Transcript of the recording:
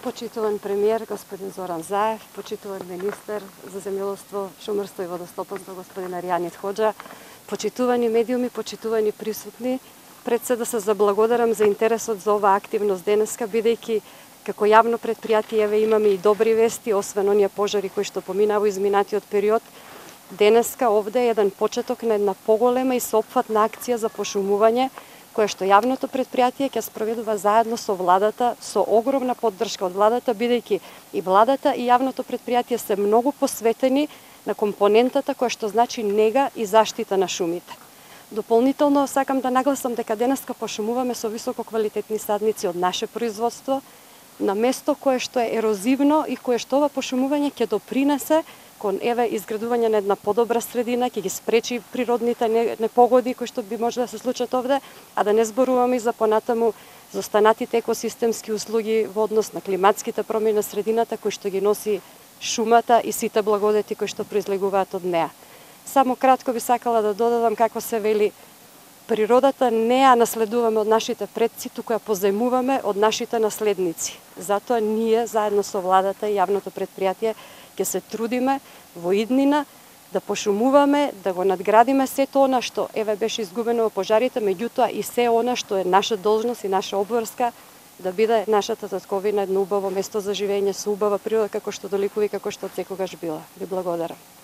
почитуван премиер господин Зоран Заев, почитуван министер за земјоделство, шумарство и водостопанство господин Аријанит Хоџа, почитувани медиуми, почитувани присутни, пред се да се заблагодарам за интересот за оваа активност денеска, бидејќи како јавно предпријатие еве имаме и добри вести, освен оние пожари кои што поминаа во изминатиот период. Денеска овде е еден почеток на една поголема и сеопфатна акција за пошумување, која што јавното предпријатие ќе спроведува заедно со владата, со огромна поддршка од владата, бидејќи и владата и јавното предпријатие се многу посветени на компонентата која што значи нега и заштита на шумите. Дополнително сакам да нагласам дека денеска пошумуваме со висококвалитетни садници од наше производство, на место кое што е ерозивно и кое што ова пошумување ќе допринесе кон изградување на една подобра средина, ќе ги спречи природните непогоди кои што би може да се случат овде, а да не зборуваме и за понатаму за останатите екосистемски услуги во однос на климатските промени на средината кои што ги носи шумата и сите благодети кои што произлегуваат од неа. Само кратко би сакала да додадам како се вели, природата не ја наследуваме од нашите предци, туку ја позајмуваме од нашите наследници. Затоа ние заедно со владата и јавното предпријатие ќе се трудиме во иднина да пошумуваме, да го надградиме сето она што беше изгубено во пожарите, меѓутоа и се она што е наша должност и наша обврска да биде нашата татковина едно убаво место за живење со убава природа како што доликува и како што секогаш била. Ви благодарам.